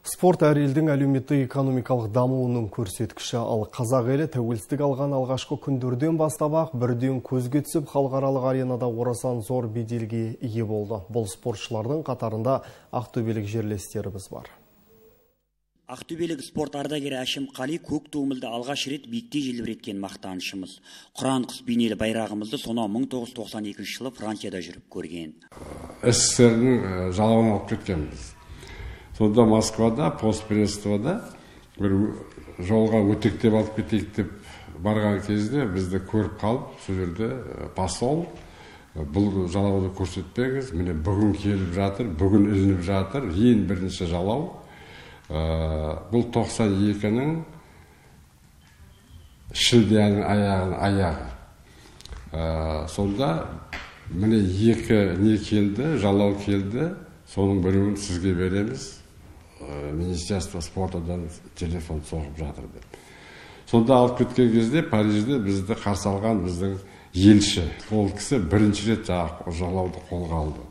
Спорт әр елдің әлеуметтік экономикалық дамуының көрсеткіші, ал қазақ елі тәуелсіздік алған алғашқы күндерден бастап-ақ бірден көзге түсіп халықаралық аренада орасан зор беделге ие болды. Бұл спортшылардың қатарында ақтөбелік жерлестеріміз бар. Ақтөбелік спорт ардагері Әшім Қали көк туымызды алғаш рет биікте желбіреткен мақтанышымыз. Құран құс бейнелі байрағымызды сонау 1992 жылы Францияда жүріп көрген. СССР-ның жалауын алып кеткенбіз. Сонда Москвада, постпредствода бір жолға өтектеп алып кетейік деп барған кезде бізді көріп қалып, сол жерде посол бұл жалауды көрсетпеңіз, міне бүгін келіп жатыр, бүгін ілініп жатыр, ең бірінші жалау. Бұл 92-ның шілденің аяғы. Сонда міне екі не келді, жалау келді, соның біреуін сізге береміз. Министерство спортадан телефон соғып жатыр деп. Сонда алып кеткен кезде Парижде бізді қарсы алған біздің елші. Ол кісі бірінші рет жалауды қолға алды.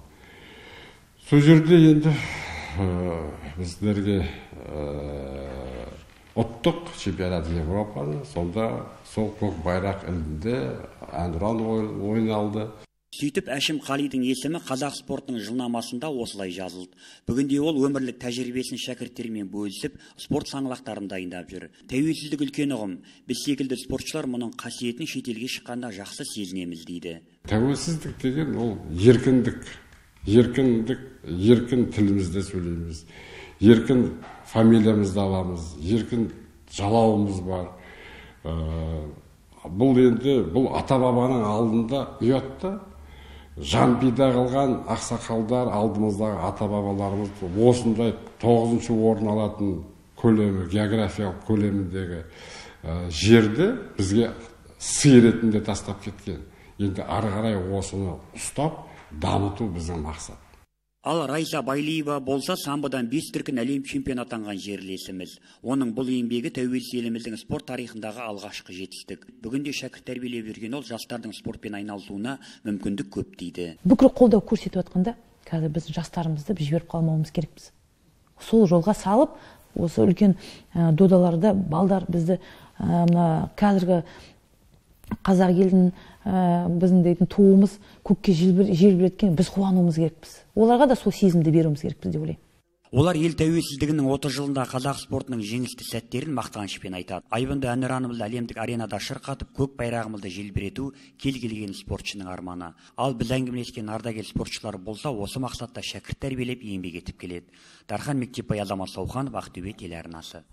Сол жерде енді біздерге ұлттық чемпионат Европаны, сонда сол көк байрақ ілінді, әнұран ойналды. Сөйтіп Әшім Қалидің есімі қазақ спортының жылнамасында осылай жазылды. Бүгінде ол өмірлік тәжірибесін шәкірттермен бөлісіп, спорт саңлақтарын дайындап жүр. Тәуелсіздік үлкен ұғым. Біз секілді спортшылар мұның қасиетін шетелге шыққанда жақсы сезінеміз дейді. Тәуелсіздік деген ол еркіндік. Еркін тілімізде сөйлейміз. Еркін фамилиямызды аламыз. Еркін жалауымыз бар. Бұл ата-бабаның алдында ұятты. Жан пида қылған ақсақалдар алдымыздағы ата-бабаларымыз осындай 9-шы орын алатын көлемі, географиялық көлеміндегі жерді бізге сый ретінде тастап кеткен. Енді ары қарай осыны ұстап, дамыту біздің мақсат. Ал Райса Байлиева болса самбодан 5 дүркін әлем чемпионы атанған жерлесіміз. Оның бұл еңбегі тәуелсіз еліміздің спорт тарихындағы алғашқы жетістік. Бүгінде шәкірт тәрбиелеп жүрген ол жастардың спортпен айналысуына мүмкіндік көп дейді. Бүкіл қолдау көрсетіп жатқанда, қазір біз жастарымызды жіберіп қалмауымыз керекпіз. Сол жолға салып, осы үлкен додаларда балдар бізді қазіргі қазақ елдің біздің дейтін туымыз көкке желбіреткен, біз қуануымыз керекпіз. Оларға да сол сезімді беруіміз керекпіз деп ойлаймын. Олар ел тәуелсіздігінің 30 жылында қазақ спортының жеңісті сәттерін мақтанышпен айтады. Айбынды әнұранымызды әлемдік аренада шырқатып, көк байрағымызды желбірету кез келген спортшының арманы. Ал біз әңгімелескен ардагер спортшылар болса, осы мақсатта шәкірт тәрбиелеп еңбек етіп келеді. Дархан Мектепбай, Азамат Сауханов, Ақтөбе телеарнасы.